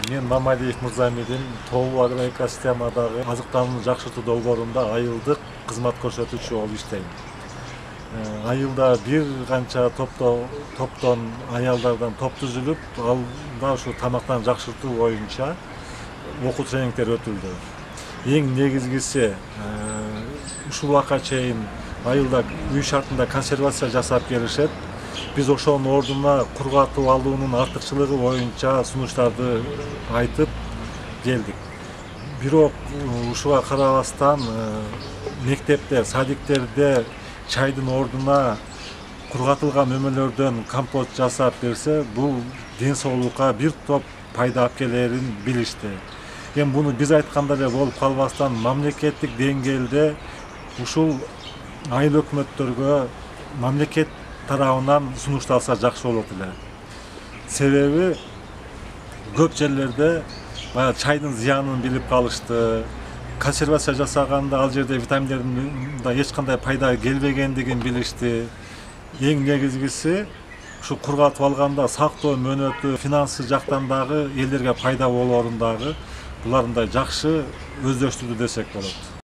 Мен Мамалиев Мырзамидин тобу агроэкосистемадагы азыктанууну жакшыртуу долбоорунда айылдык кызмат көрсөтүүчү болуп иштейм. Айылда бир канча топтон аялдардан топ түзүлүп, алда ушу тамактанууну жакшыртуу боюнча окуу тренингдер өтүлдү. Эң негизгиси ушул убакка чейин айылда үй шартында консервация жасап келишет. Биз ошонун ордуна кургатып алуунун артыкчылыгы боюнча сунуштарды айтып келдик. Бирок ушуга карабастан мектептер, садиктерде чайдын ордуна кургатылган мөмөлөрдөн компот жасап берсе, бул ден соолукка бир топ пайда алып келерин билишти. Эми буну биз айтканда эле болуп калбастан, мамлекеттик деңгээлде ушул айыл өкмөттөргө мамлекет тарабынан сунушталса жакшы болот эле. Себеби көп жерлерде баягы чайдын зыянын билип калышты. Консервация жасаганда ал жерде витаминдердин да эч кандай пайда келбегендигин билишти. Эң негизгиси ушу кургатып алганда сактоо мөөнөтү, финансы жактан дагы элдерге пайда болоорун дагы булар мындай жакшы өздөштүрдү десек болот.